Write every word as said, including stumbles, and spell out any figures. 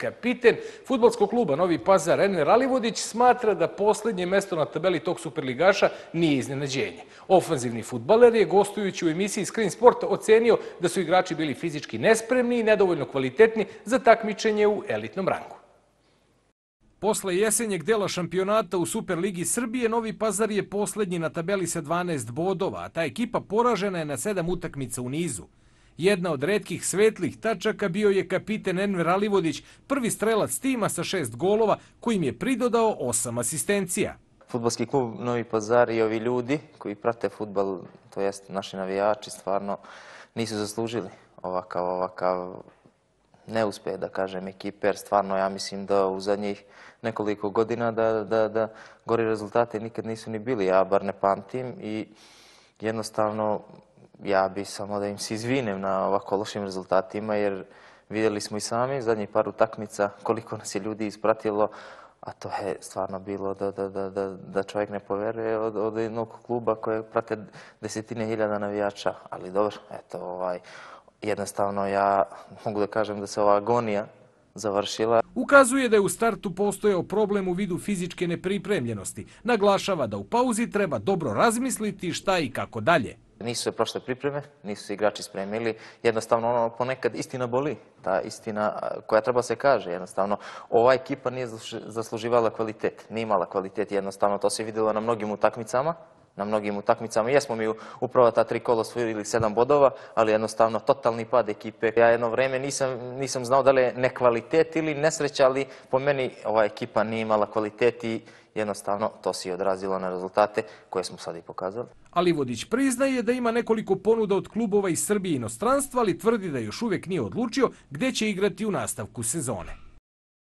Kapiten fudbalskog kluba Novi Pazar Enver Alivodić smatra da posljednje mesto na tabeli tog superligaša nije iznenađenje. Ofanzivni fudbaler je gostujući u emisiji Screen Sport ocenio da su igrači bili fizički nespremni i nedovoljno kvalitetni za takmičenje u elitnom rangu. Posle jesenjeg dela šampionata u Superligi Srbije, Novi Pazar je posljednji na tabeli sa dvanaest bodova, a ta ekipa poražena je na sedam utakmica u nizu. Jedna od retkih svetlih tačaka bio je kapiten Enver Alivodić, prvi strelac tima sa šest golova, kojim je pridodao osam asistencija. Fudbalski klub Novi Pazar i ovi ljudi koji prate fudbal, to jest naši navijači, stvarno nisu zaslužili ovakav, ovakav neuspeh, da kažem, ekipe, jer stvarno ja mislim da u zadnjih nekoliko godina da, da, da gori rezultate nikad nisu ni bili, ja bar ne pamtim i jednostavno ja bi samo da im se izvinem na ovako lošim rezultatima, jer vidjeli smo i sami zadnjih par utakmica koliko nas je ljudi ispratilo, a to je stvarno bilo da, da, da, da, da čovjek ne poveruje od, od jednog kluba koje prate desetine hiljada navijača, ali dobro, eto, ovaj, jednostavno ja mogu da kažem da se ova agonija završila. Ukazuje da je u startu postojao problem u vidu fizičke nepripremljenosti. Naglašava da u pauzi treba dobro razmisliti šta i kako dalje. Nisu se prošle pripreme, nisu se igrači spremili. Jednostavno, ono, ponekad istina boli. Ta istina koja treba se kaže. Jednostavno, ova ekipa nije zasluživala kvalitet. Nije imala kvalitet. Jednostavno, to se vidjelo na mnogim utakmicama. Na mnogim utakmicama. Jesmo mi upravo ta tri kola osvojili sedam bodova, ali jednostavno totalni pad ekipe. Ja jedno vreme nisam, nisam znao da li je nekvalitet ili nesreća, ali po meni ova ekipa nije imala kvalitet i jednostavno to se i odrazilo na rezultate koje smo sad i pokazali. Alivodić priznaje da ima nekoliko ponuda od klubova iz Srbije i inostranstva, ali tvrdi da još uvijek nije odlučio gdje će igrati u nastavku sezone.